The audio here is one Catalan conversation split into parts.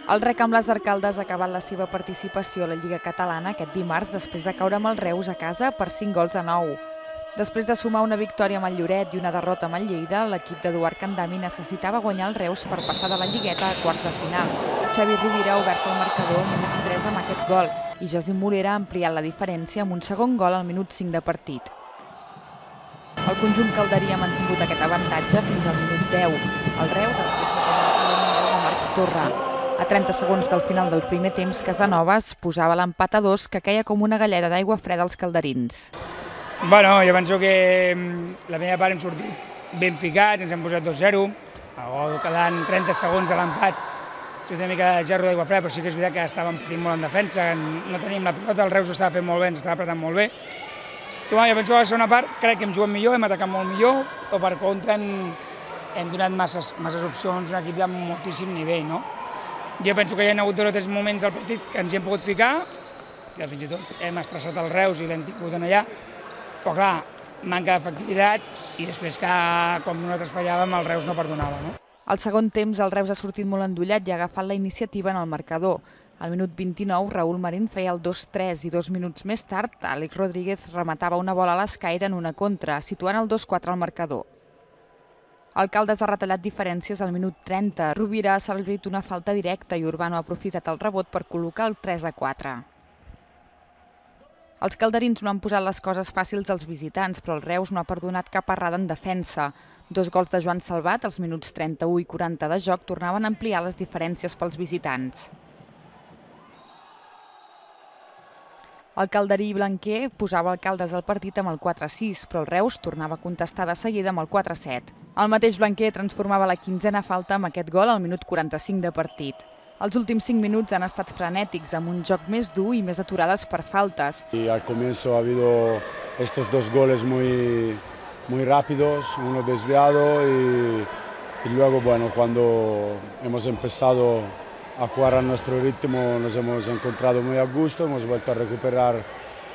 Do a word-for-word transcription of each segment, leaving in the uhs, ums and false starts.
El Rec amb les Arcaldes ha acabat la seva participació a la Lliga Catalana aquest dimarts després de caure amb el Reus a casa per cinc gols a nou. Després de sumar una victòria amb el Lloret i una derrota amb el Lleida, l'equip d'Eduard Candami necessitava guanyar el Reus per passar de la Lligueta a quarts de final. Xavi Rovira ha obert el marcador al minut tres amb aquest gol i José Morera ha ampliat la diferència amb un segon gol al minut cinc de partit. El conjunt calderí ha mantingut aquest avantatge fins al minut deu. El Reus es posa per la de Marc Torra. A trenta segons del final del primer temps, Casanovas posava l'empat a dos que queia com una galleda d'aigua freda als calderins. Bueno, jo penso que la primera part hem sortit ben ficats, ens hem posat dos zero, el gol quedant trenta segons a l'empat, ha sigut una mica de gerro d'aigua freda, però sí que és veritat que estàvem patint molt en defensa, no teníem la pilota, el Reus ho estava fent molt bé, ens estava apretant molt bé. I bueno, jo penso que a la segona part crec que hem jugat millor, hem atacat molt millor, o per contra hem, hem donat masses, masses opcions, un equip de moltíssim nivell, no? Jo penso que hi ha hagut dos o tres moments al partit que ens hi hem pogut ficar, que fins i tot hem estressat el Reus i l'hem tingut allà, però clar, manca d'efectivitat i després que quan nosaltres fallàvem el Reus no perdonava. No? Al segon temps el Reus ha sortit molt endollat i ha agafat la iniciativa en el marcador. Al minut vint-i-nou, Raúl Marín feia el dos tres i dos minuts més tard, Àlex Rodríguez rematava una bola a l'escaire en una contra, situant el dos quatre al marcador. El Caldes ha retallat diferències al minut trenta. Rovira ha servit una falta directa i Urbano ha aprofitat el rebot per col·locar el tres a quatre. Els calderins no han posat les coses fàcils als visitants, però el Reus no ha perdonat cap errada en defensa. Dos gols de Joan Salvat, als minuts trenta-u i quaranta de joc, tornaven a ampliar les diferències pels visitants. El calderí blanquer posava el Caldes al partit amb el quatre sis, però el Reus tornava a contestar de seguida amb el quatre set. El mateix blanquer transformava la quinzena falta amb aquest gol al minut quaranta-cinc de partit. Els últims cinc minuts han estat frenètics, amb un joc més dur i més aturades per faltes. Y al comienzo ha habido estos dos goles muy, muy rápidos, uno desviado y, y luego, bueno, cuando hemos empezado a jugar a nuestro ritmo nos hemos encontrado muy a gusto, hemos vuelto a recuperar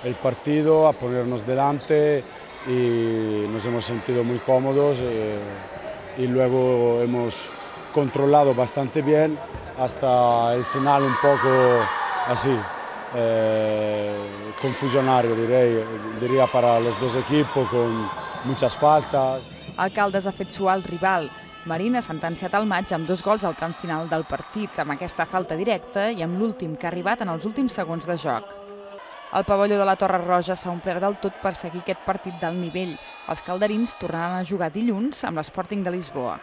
el partido, a ponernos delante y nos hemos sentido muy cómodos eh, y luego hemos controlado bastante bien hasta el final un poco así, eh, confusionario direi, diria para los dos equipos con muchas faltas. El Caldes ha fet suar el rival. Marín ha sentenciat el maig amb dos gols al tram final del partit, amb aquesta falta directa i amb l'últim que ha arribat en els últims segons de joc. El pavelló de la Torre Roja s'ha omplert del tot per seguir aquest partit d'alt nivell. Els calderins tornaran a jugar dilluns amb l'Sporting de Lisboa.